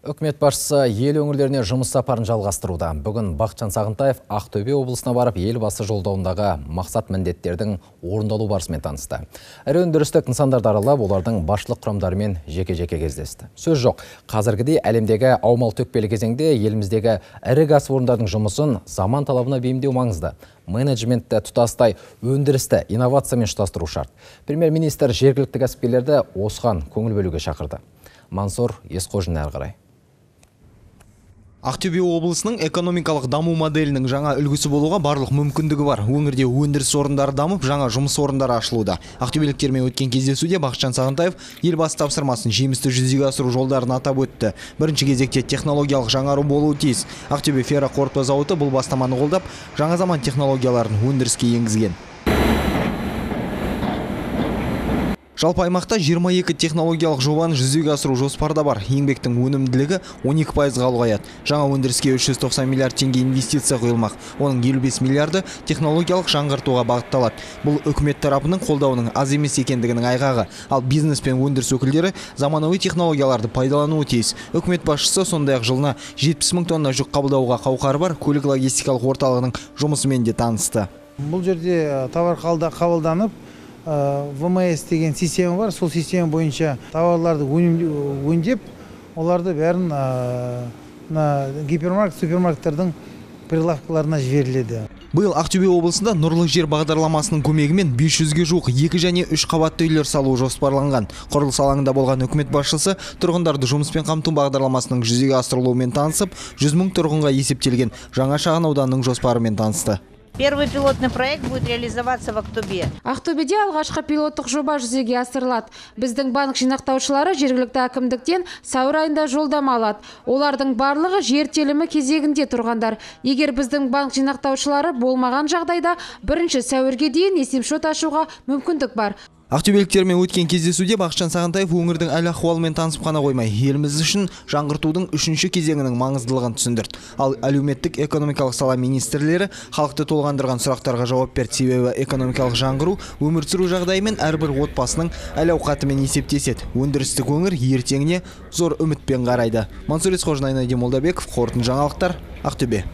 Үкімет басшысы ел өңірлеріне жұмыс сапарын жалғастыруда. Бүгін Бақытжан Сағынтаев Ақтөбе облысына барып, елбасы жолдауындағы мақсат міндеттердің орындалу барысымен танысты. Ірі өндірістік нысандарды аралап, олардың басшылық құрамдарымен жеке-жеке кездесті. Сөз жоқ, қазіргідей әлемдегі аумал-төкпелі кезеңде еліміздегі ірі кәсіпорындардың жұмысын заман талабына бейімдеу маңызды. Менеджментті тұтастай өндірісті инновациямен ұштастыру шарт. Премьер-министр жергілікті кәсіпкерлерді осыған көңіл бөлуге шақырды. Мансур Есқожин әрі қарай. Ақтөбе облысының экономикалық даму моделінің жаңа үлгісі болуға барлық мүмкіндігі бар. Өңірде өндіріс орындары дамып, жаңа жұмыс орындары ашылуда. Ақтөбеліктермен өткен кездесуде Бақытжан Сағынтаев елбасы тапсырмасын жемісті жүзеге асыру жолдарын атап өтті. Бірінші кезекте технологиялық жаңару болуы тиіс. Ақтөбе ферроқорытпа зауыты бұл бастаманы қолдап, жаңа заман технологияларын өндіріске енгізген. Жалпы аймақта 22 технологиялық жобаны жүзеге асыру жоспарда бар. Еңбектің өнімділігі 12%-ға ұлғаяды. Жаңа өндіріске 390 миллиард теңге инвестиция құйылмақ. Оның 55 миллиарды технологиялық жаңғыртуға бағытталады. Бұл үкімет тарапының қолдауының аз емес екендігінің айғағы. Ал бизнес пен өндіріс өкілдері заманауи технологияларды пайдалануы тиіс. Үкімет басшысы сондай-ақ жылына 70 мың тонна жүк қабылдауға қауқары бар көлік логистикалық орталығының жұмысымен де танысты. Бұл жерде товар қабылданып, ВМС деген система бар. Сол система бойынша товарларды өңдеп, оларды бәрін гипермаркет, супермаркеттердің прилавкаларына жіберіледі. Биыл Ақтөбе облысында Нұрлы жер бағдарламасының көмегімен 500-ге жуық 2 және 3 қабатты үйлер салу жоспарланған. Құрылыс алаңында болған үкімет басшысы тұрғындарды жұмыспен қамту бағдарламасының жүзеге асырылуымен танысып, 100 мың тұрғынға есептелген жаңа шағын ауданның жоспарымен танысты. Первый пилотный проект будет реализоваться в Ақтөбе. Ақтөбеде алғашқы пилоттық жоба жүзеге асырылады. Біздің банк жинақтаушылары жергілікті әкімдіктен сәуір айында жолдама алады. Олардың барлығы жер телімі кезегінде тұрғандар. Егер біздің банк жинақтаушылары болмаған жағдайда 1 сәуірге дейін есепшот ашуға мүмкіндік бар. Ақтөбеліктермен өткен кездесуде Бақытжан Сағынтаев өңірдің әл-ахуалымен танысып қана қоймай, еліміз үшін жаңғыртудың 3-ші кезеңінің маңыздылығын түсіндірді. Ал әлеуметтік экономикалық сала министрлері халықты толғандырған сұрақтарға жауап берді. Себебі экономикалық жаңғыру өмір сүру жағдайымен әрбір отбасының әл-ауқатымен есептеседі. Өндірістік өңір ертеңіне зор үмітпен қарайды. Мансур Есқожин, Молдабеков, қорытынды жаңалықтар, Ақтөбе.